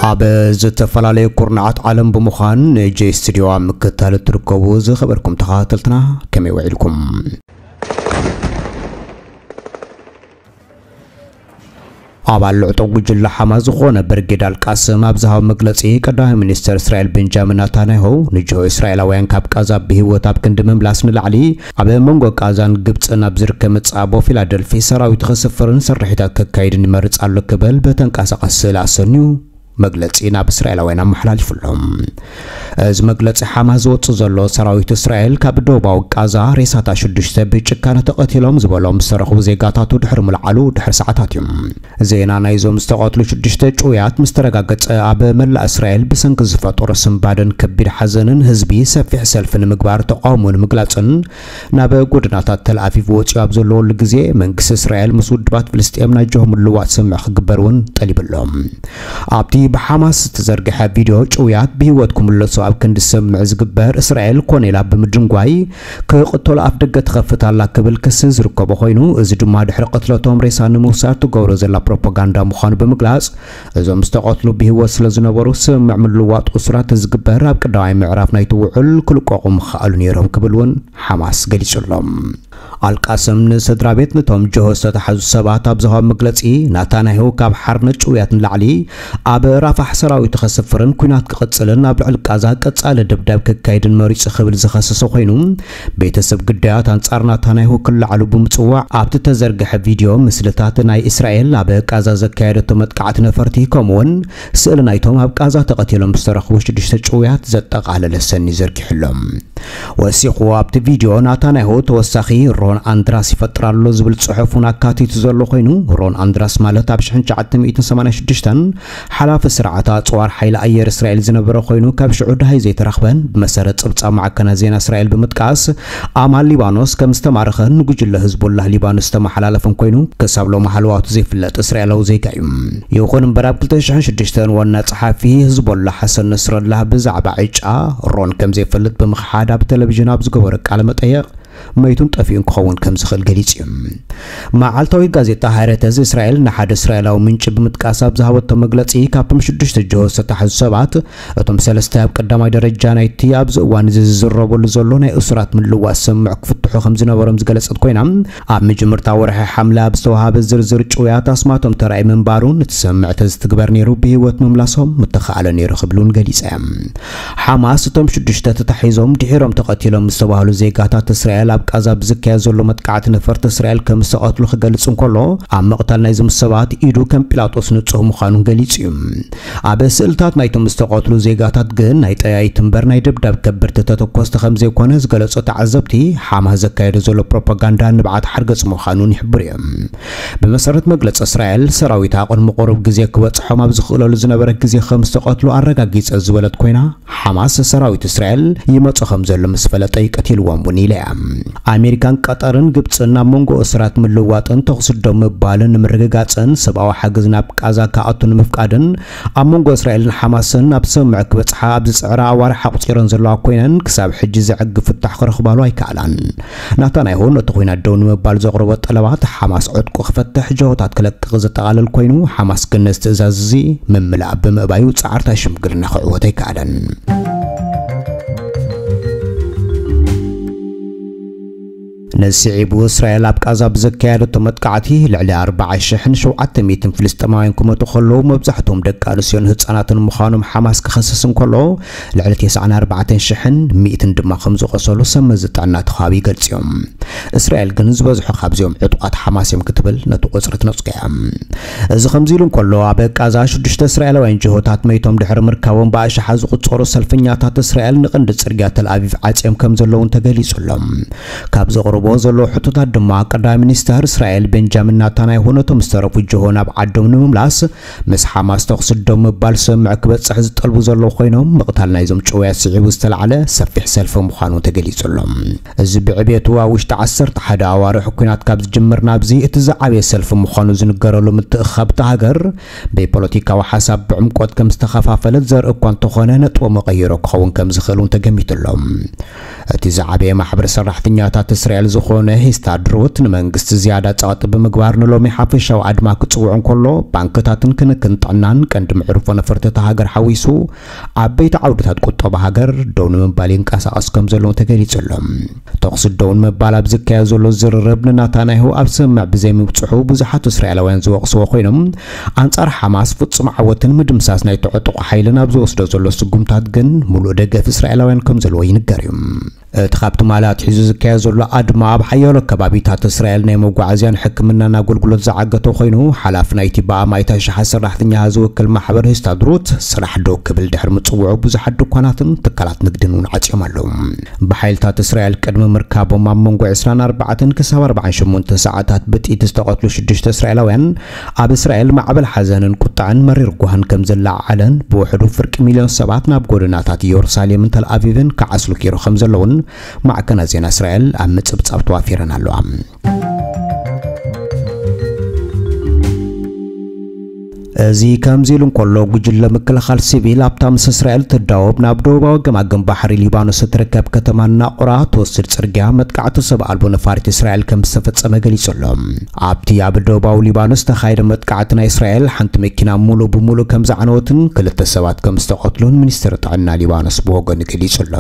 ኣብ ዝተፈላለዩ ኩርናዓት ዓለም ብምዃን ንጄ ስቱዲዮ ኣብ ምክትታል እትርከቡ ዝኸበርኩም ተኸታተልትና ከመይ ውዒልኩም? ኣባል ልዕጦ ጉጅለ ሓማስ ዝኾነ ብርጌድ ኣልቃስም ኣብ ዝሃቦ መግለጺ፣ ቀዳማይ ሚኒስተር እስራኤል ቤንጃሚን ናታንያሁ ንጅሆ እስራኤላውያን ካብ ቃዛ ብህይወት ኣብ ክንዲ ምምላስ ንላዕሊ፣ ኣብ መንጎ ቃዛን ግብጽን ኣብ ዝርከብ መጻቦ ፊላደልፊ ሰራዊት ከስፍርን ስርሒታት ከካይድን ይመርጽ ኣሎ ክብል ብተንቀሳቓሲ ስእሊ ኣሰንዩ መግለጺ ናብ እስራኤላውያን ኣመሓላሊፉሎም። እዚ መግለጺ ሓማስ ዝወጽእ ዘሎ፣ ሰራዊት እስራኤል ካብ ደቡባዊ ቃዛ ሬሳታት ሽዱሽተ ብጭካነ ተቐቲሎም ዝበሎም ዝተረኽቡ ዜጋታቱ ድሕሪ ምልዓሉ ድሕሪ ሰዓታት እዩ። ዜና ናይዞም ዝተቐትሉ ሽዱሽተ ጭውያት ምስ ተረጋገጸ፣ ኣብ መላእ እስራኤል ብሰንኪ ዝፈጠሮ ስንባደን ከቢድ ሓዘንን ህዝቢ ሰፊሕ ሰልፊ ንምግባር ተቃውሞ ንምግላጽን ናብ ጎደናታት ተልኣቪቭ ወጺኡ ኣብ ዘለወሉ ግዜ፣ መንግስቲ እስራኤል ምስ ውድባት ፍልስጤም ናይ ጅሆ ምልዋጥ ስምምዕ ክግበር እውን ጠሊቡ ኣሎ። ኣብቲ ብሓማስ ዝተዘርግሐ ቪድዮ፣ ጭውያት ብህይወት ክምለሱ ኣብ ክንዲ ስምምዕ ዝግበር፣ እስራኤል ኮነ ኢላ ብምድንጓይ ክቕተሉ ኣፍ ደገ ትኸፍት ኣላ ክብል ክሲ ዝርከቦ ኮይኑ፣ እዚ ድማ ድሕሪ ቅትለቶም ሬሳ ንምውሳድ ትገብሮ ዘላ ፕሮፓጋንዳ ምዃኑ ብምግላጽ፣ እዞም ዝተቐትሉ ብህይወት ስለ ዝነበሩ፣ ስምምዕ ምልዋጥ እሱራት ዝግበር ኣብ ቀዳማይ ምዕራፍ ናይቲ ውዕል ክልቀቑ ምኸኣሉ ነይሮም ክብል እውን ሓማስ ገሊጹ ኣሎ። ኣልቃስም ንስድራ ቤት ነቶም ጅሆ ዝተታሕዙ ሰባት ኣብ ዝሃቦ መግለጺ፣ ናታንያሁ ካብ ሓርነት ጭውያት ንላዕሊ ኣብ ራፋሕ ሰራዊቱ ከስፍርን ኲናት ክቕጽልን ኣብ ልዕሊ ቃዛ ቀጻሊ ደብዳብ ከካይድን መሪጹ ክብል ዝኸሰሰ ኮይኑ፣ ቤተሰብ ግዳያት ኣንጻር ናታንያሁ ክለዓሉ ብምጽዋዕ ኣብቲ ተዘርግሐ ቪድዮ ምስልታት ናይ እስራኤል ኣብ ቃዛ ዘካየደቶ መጥቃዕቲ ነፈርቲ ከምኡውን ስእሊ ናይቶም ኣብ ቃዛ ተቐቲሎም ዝተረኽቡ ሽዱሽተ ጭውያት ዘጠቓለለ ሰኒ ዘርጊሑሎም። ወሲኹ ኣብቲ ቪድዮ ናታንያሁ ተወሳኺ ሮን ኣንድራስ ይፈጥር ኣሎ ዝብል ጽሑፍ እውን ኣካቲቱ ዘሎ ኮይኑ፣ ሮን ኣንድራስ ማለት ኣብ ሽሕን ትሽዓተ ሚእትን ሰማንያን ሽዱሽተን ሓላፊ ስርዓት ኣጽዋር ሓይሊ ኣየር እስራኤል ዝነበረ ኮይኑ፣ ካብ ሽዑ ደሃይ ዘይተረኽበን ብመሰረት ጸብጻብ ማዕከናት ዜና እስራኤል ብምጥቃስ፣ ኣማል ሊባኖስ ከም ዝተማረኸን ንጉጅለ ህዝቦላህ ሊባኖስ ዝተመሓላለፈን ኮይኑ፣ ክሳብ ሎሚ ሃለዋቱ ዘይፍለጥ እስራኤላዊ ዜጋ እዩ። ይኹን እምበር፣ ኣብ ክልተ ሽሕን ሽዱሽተን ዋና ጸሓፊ ህዝቦላህ ሓሰን ነስረላህ ብዛዕባ ዕጫ ሮን ከም ዘይፈልጥ ብምኽሓድ ኣብ ቴሌቪዥን ኣብ ዝገበሮ ቃለ መጠየቕ፣ መይቱን ጠፊኡን ክኸውን ከም ዝኽእል ገሊጹ እዩ። መዓልታዊት ጋዜጣ ሃረተዝ እስራኤል ንሓደ እስራኤላዊ ምንጪ ብምጥቃስ ኣብ ዝሃበቶ መግለጺ፣ ካብቶም ሽዱሽተ ጅሆ ዝተታሕዙ ሰባት፣ እቶም ሰለስተ ኣብ ቀዳማይ ደረጃ ናይቲ ኣብዚ እዋን እዚ ዝዝረበሉ ዘሎ ናይ እሱራት ምልዋስ ስምምዕ ክፍትሑ ከም ዝነበሮም ዝገለጸት ኮይና፣ ኣብ መጀመርታ ወርሒ ሓምለ ኣብ ዝተዋሃበ ዝርዝር ጭውያት ኣስማቶም ተራእዩ ምንባሩን እቲ ስምምዕ ተዝትግበር ነይሩ ብህይወት ምምላሶም ምተኻእለ ነይሩ ክብሉን ገሊጸ። ሓማስ እቶም ሽዱሽተ ተታሒዞም ድሒሮም ተቐቲሎም ዝተባህሉ ዜጋታት እስራኤል ኣብ ቃዛ ብዝካየድ ዘሎ መጥቃዕቲ ነፈርቲ እስራኤል ከም ዝተቐትሉ ክገልጽ እንከሎ፣ ኣብ ምቕታል ናይዞም ሰባት ኢዱ ከም ጲላጦስ ንጹህ ምዃኑን ገሊጹ እዩ። ኣብ ስእልታት ናይቶም ዝተቐትሉ ዜጋታት ግን ናይ ጠያይቲ እምበር ናይ ደብዳብ ከበድቲ ተተኮስቲ ከም ዘይኮነ ዝገለጹ ተዓዘብቲ፣ ሓማስ ዘካየዶ ዘሎ ፕሮፓጋንዳ ንብዓት ሓርገጽ ምዃኑን ይሕብሩ እዮም። ብመሰረት መግለጺ እስራኤል፣ ሰራዊታ ቅድሚ ቁሩብ ግዜ ክበጽሖም ኣብ ዝኽእለሉ ዝነበረ ግዜ ከም ዝተቐትሉ ኣረጋጊጸ ዝበለት ኮይና፣ ሓማስ ሰራዊት እስራኤል ይመጾ ከም ዘሎ ምስ ፈለጠ እዩ ቀቲልዎም እውን ኢላ እያ። ኣሜሪካን ቀጠርን ግብጽን ኣብ መንጎ እስራት ምልዋጥን ተኹሲ ደው ምባልን ንምርግጋጽን ሰብኣዊ ሓገዝ ናብ ቃዛ ክኣቱ ንምፍቃድን ኣብ መንጎ እስራኤልን ሓማስን ናብ ስምምዕ ክበጽሓ ኣብ ዝጽዕራ ኣዋርሕ ኣቑጺረን ዘለዋ ኮይነን፣ ክሳብ ሕጂ ዘዕግብ ፍታሕ ክረኽባሉ ኣይከኣላን። ናታንያሁ ነቲ ኲናት ደው ንምባል ዘቕረቦ ጠለባት ሓማስ ዕጥቁ ክፈትሕ፣ ጅሆታት ክለቅቕ ዘጠቓልል ኮይኑ፣ ሓማስ ግን ነዚ ትእዛዝ እዚ ምምላእ ብምእባዩ ጻዕርታት ሽምግልና ክዕወት ኣይከኣለን። ነዚ ስዒቡ እስራኤል ኣብ ቃዛ ብዘካየደቶ መጥቃዕቲ ልዕሊ ኣርባዓ ሽሕን ሸውዓተ ሚእትን ፍልስጤማውያን ክሞቱ ከለዉ፣ መብዛሕትኦም ደቂ ኣንስትዮን ህጻናትን ምዃኖም ሓማስ ክኸስስ እንከሎ፣ ልዕሊ ተስዓን ኣርባዕተን ሽሕን ሚእትን ድማ ከም ዝቖሰሉ ሰብ መዚ ጥዕና እቲ ከባቢ ይገልጹ እዮም። እስራኤል ግን ዝበዝሑ ካብዚኦም ዕጡቓት ሓማስ እዮም ክትብል ነቲ ቁጽሪ ትነጽጎ እያ። እዚ ከምዚ ኢሉ እንከሎ፣ ኣብ ቃዛ ሽዱሽተ እስራኤላውያን ጅሆታት መይቶም ድሕሪ ምርካቦም ብኣሽሓት ዝቑጸሩ ሰልፈኛታት እስራኤል ንቐንዲ ጽርግያ ተልኣቪቭ ዓጽዮም ከም ዘለውን ተገሊጹ ኣሎ። ካብ ዘቕርቦ ዘለዉ ሕቶታት ድማ፣ ቀዳማይ ሚኒስተር እስራኤል ቤንጃሚን ናታንያሁ ነቶም ዝተረፉ ጅሆ ናብ ዓዶም ንምምላስ ምስ ሓማስ ተኹሲ ደው ምባል ስምምዕ ክበጽሕ ዝጠልቡ ዘለዉ ኮይኖም፣ ምቕታል ናይዞም ጭውያት ስዒቡ ዝተላዕለ ሰፊሕ ሰልፊ ምዃኑ ተገሊጹ ኣሎ። እዚ ብዕቤቱ ኣብ ውሽጢ ዓሰርተ ሓደ ኣዋርሕ ኲናት ካብ ዝጅምር ናብዚ እቲ ዝዓበየ ሰልፊ ምዃኑ ዝንገረሉ ምትእኽኻብ እታ ሃገር፣ ብፖለቲካዊ ሓሳብ ብዕምቆት ከም ዝተኸፋፈለት ዘርኢ እኳ እንተኾነ፣ ነጥቦ መቐይሮ ክኸውን ከም ዝኽእል እውን ተገሚቱ ኣሎ። እቲ ዝዓበየ ማሕበር ሰራሕተኛታት እስራኤል ዝኾነ ሂስታድሮት፣ ንመንግስቲ ዝያዳ ጸቕጢ ብምግባር ንሎሚ ሓፈሻዊ ኣድማ ክጽውዕ እንከሎ፣ ባንክታትን ክንክን ጥዕናን፣ ቀንዲ መዕርፎ ነፈርቲ እታ ሃገር ሓዊሱ፣ ዓበይቲ ዓውድታት ቁጠባ ሃገር ደው ንምባል ይንቀሳቐስ ከም ዘለዉ ተገሊጹ ኣሎ። ተኹሲ ደው ንምባል ኣብ ዝካየድ ዘሎ ዝርርብ፣ ንናታንያሁ ኣብ ስምምዕ ብዘይምብጽሑ ብዙሓት እስራኤላውያን ዝወቕስዎ ኮይኖም፣ ኣንጻር ሓማስ ፍጹም ዓወትን ምድምሳስ ናይቲ ዕጡቕ ሓይልን ኣብ ዝወስዶ ዘሎ ስጉምታት ግን፣ ሙሉእ ደገፍ እስራኤላውያን ከም ዘለዎ ይንገር እዩ። እቲ ካብ ትማሊ ኣትሒዙ ዝካየድ ዘሎ ኣድማ፣ ኣብ ሓያሎ ከባቢታት እስራኤል ናይ መጓዓዝያን ሕክምናን ኣገልግሎት ዝዓገተ ኮይኑ፣ ሓላፊ ናይቲ ብኣማኢት ኣሽሓት ሰራሕተኛ ዝውክል ማሕበር ሂስታድሮት፣ ስራሕ ደው ክብል ድሕሪ ምጽውዑ፣ ብዙሓት ድኳናትን ትካላት ንግድን እውን ዓጽዮም ኣለዉ። ብሓይልታት እስራኤል ቅድሚ ምርካቦም፣ ኣብ መንጎ ዕስራን ኣርባዕተን ክሳብ ኣርባዓን ሸሞንተን ሰዓታት ብጥይት ዝተቐትሉ ሽዱሽተ እስራኤላውያን፣ ኣብ እስራኤል ማዕበል ሓዘንን ቁጣዕን መሪር ጓህን ከም ዝለዓዓለን፣ ብውሕዱ ፍርቂ ሚልዮን ሰባት ናብ ጎደናታት ኢየሩሳሌምን ተልኣቪቭን ክዓስሉ ኪሩ ከም ዘለውን ማዕከናት ዜና እስራኤል ኣብ ምጽብጻብ ተዋፊረን ኣለዋ። እዚ ከምዚ ኢሉ እንከሎ፣ ጉጅለ ምክልኻል ሲቪል ኣብታ ምስ እስራኤል ትዳወብ ናብ ደቡባዊ ገማግም ባሕሪ ሊባኖስ እትርከብ ከተማ ናቑራ ትወስድ ጽርግያ መጥቃዕቲ ሰብ ኣልቦ ነፋሪት እስራኤል ከም ዝተፈጸመ ገሊጹ ኣሎ። ኣብቲ ኣብ ደቡባዊ ሊባኖስ ዝተኻየደ መጥቃዕቲ፣ ናይ እስራኤል ሓንቲ መኪና ሙሉእ ብሙሉእ ከም ዝዓነወትን ክልተ ሰባት ከም ዝተቐትሉን ሚኒስትሪ ጥዕና ሊባኖስ ብወገኑ ገሊጹ ኣሎ።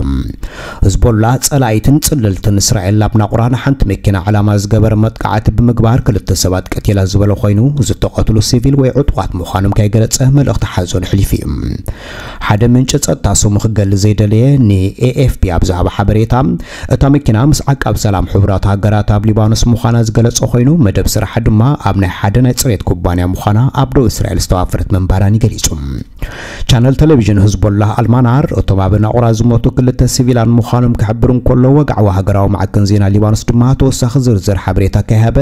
ህዝቦላ ጸላኢትን ጽልልትን እስራኤል፣ ኣብ ናቑራ ንሓንቲ መኪና ዕላማ ዝገበረ መጥቃዕቲ ብምግባር ክልተ ሰባት ቀቲላ ዝበለ ኮይኑ፣ ዝተቐትሉ ሲቪል ወይ ዕጡቓት ምዃኖም ከይገለጸ መልእኽቲ ሓዘኑ ኣሕሊፉ እዩ። ሓደ ምንጪ ጸጥታ ስሙ ክገልጽ ዘይደለየ ንኤኤፍፒ ኣብ ዝሃቦ ሓበሬታ፣ እታ መኪና ምስ ዓቃብ ሰላም ሕቡራት ሃገራት ኣብ ሊባኖስ ምዃና ዝገለጸ ኮይኑ፣ መደብ ስራሓ ድማ ኣብ ናይ ሓደ ናይ ጽሬት ኩባንያ ምዃና ኣብ ደቡብ እስራኤል ዝተዋፈረት ምንባራን ገሊጹ። ቻነል ቴሌቪዥን ህዝቦላህ ኣልማናር፣ እቶም ኣብ ናቑራ ዝሞቱ ክልተ ሲቪላን ምዃኖም ክሕብር እንከሎ፣ ወግዓዊ ሃገራዊ ማዕከን ዜና ሊባኖስ ድማ ተወሳኺ ዝርዝር ሓበሬታ ከይሃበ፣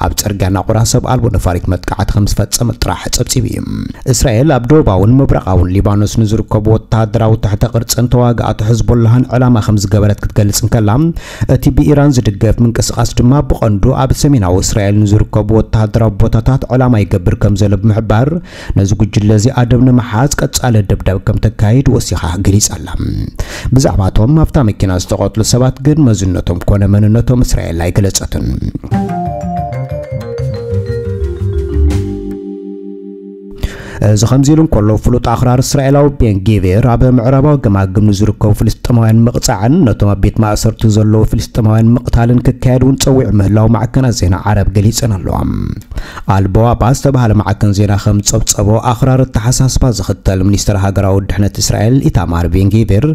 ኣብ ጽርግያ ናቑራ ሰብ ኣልቦ ነፋሪት መጥቃዕቲ ከም ዝፈጸመ ጥራሕ ጸብጺቡ እዩ። እስራኤል ኣብ ደቡባውን ምብራቓውን ሊባኖስ ንዝርከቡ ወተሃደራዊ ትሕተ ቅርጽን ተዋጋእቲ ሕዝቦላህን ዕላማ ከም ዝገበረት ክትገልጽ እንከላ፣ እቲ ብኢራን ዝድገፍ ምንቅስቓስ ድማ ብቐንዱ ኣብ ሰሜናዊ እስራኤል ንዝርከቡ ወተሃደራዊ ቦታታት ዕላማ ይገብር ከም ዘሎ ብምሕባር፣ ነዚ ጉጅለ እዚ ኣደብ ንምሓዝ ቀጻሊ ደብዳብ ከም ተካይድ ወሲኻ ገሊጻ ኣላ። ብዛዕባቶም ኣብታ መኪና ዝተቐትሉ ሰባት ግን መዝነቶም ኮነ መንነቶም እስራኤል ኣይገለጸትን። እዚ ከምዚ ኢሉ እንከሎ፣ ፍሉጥ ኣኽራሪ እስራኤላዊ ቤን ጊቪር ኣብ ምዕራባዊ ገማግም ንዝርከቡ ፍልስጤማውያን ምቕጻዕን ነቶም ኣብ ቤት ማእሰርቲ ዘለዉ ፍልስጤማውያን ምቕታልን ክካየድ እውን ጸዊዑ ምህላው ማዕከናት ዜና ዓረብ ገሊጸን ኣለዋ። ኣልቦዋባ ዝተባህለ ማዕከን ዜና ከም ጸብጸቦ፣ ኣኽራሪ ኣተሓሳስባ ዝኽተል ሚኒስትር ሃገራዊ ድሕነት እስራኤል ኢታማር ቤን ጊቪር፣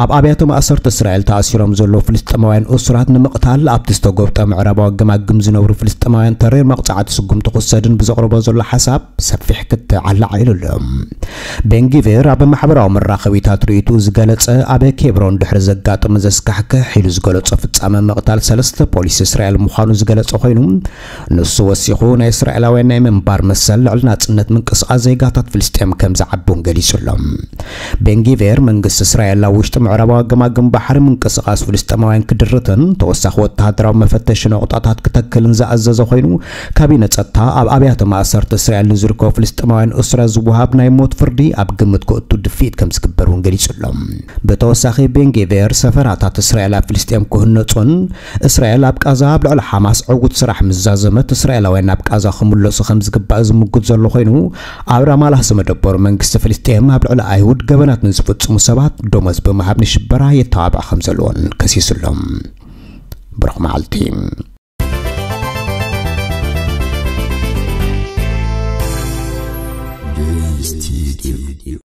ኣብ ኣብያተ ማእሰርቲ እስራኤል ተኣሲሮም ዘለዉ ፍልስጤማውያን እሱራት ንምቕታል ኣብቲ ዝተጎብጠ ምዕራባዊ ገማግም ዝነብሩ ፍልስጤማውያን ተሪር መቕጻዕቲ ስጉምቲ ክወሰድን ብዘቕርቦ ዘሎ ሓሳብ ሰፊሕ ክትዓላዕ ኢሉ ኣሎ። ቤንጊቪር ኣብ ማሕበራዊ መራኸቢታት ርእይትኡ ዝገለጸ፣ ኣብ ኬብሮን ድሕሪ ዘጋጠመ ዘስካሕክሕ ኢሉ ዝገለጾ ፍጻመ ምቕታል ሰለስተ ፖሊስ እስራኤል ምዃኑ ዝገለጸ ኮይኑ፣ ንሱ ወሲኹ ናይ እስራኤላውያን ናይ ምንባር መሰል ልዕሊ ናጽነት ምንቅስቓስ ዜጋታት ፍልስጤም ከም ዝዓቢ እውን ገሊጹ ኣሎ። ቤንጊቪር መንግስቲ እስራኤል ኣብ ውሽጢ ምዕራባዊ ገማግም ባሕሪ ምንቅስቓስ ፍልስጤማውያን ክድርትን ተወሳኺ ወተሃደራዊ መፈተሺ ነቑጣታት ክተክልን ዝኣዘዘ ኮይኑ፣ ካቢነ ጸጥታ ኣብ ኣብያተ ማእሰርቲ እስራኤል ንዝርከቡ ፍልስጤማውያን እሱራት ዝወሃብ ናይ ሞት ፍርዲ ኣብ ግምት ክእቱ ድፍኢት ከም ዝግበር እውን ገሊጹ ኣሎ። ብተወሳኺ ቤንጌቬር ሰፈራታት እስራኤል ኣብ ፍልስጤም ክህነጹን እስራኤል ኣብ ቃዛ ኣብ ልዕሊ ሓማስ ዕዉት ስራሕ ምስ ዛዘመት እስራኤላውያን ናብ ቃዛ ክምለሱ ከም ዝግባእ ዝምጉት ዘሎ ኮይኑ፣ ኣብ ራማላህ ዝመደበሩ መንግስቲ ፍልስጤም ኣብ ልዕሊ ኣይሁድ ገበናት ንዝፍጽሙ ሰባት ደሞዝ ብምሃብ ንሽበራ የተባብዕ ከም ዘለዎን ከሲሱ ኣሎ። ብሩኽ መዓልቲ።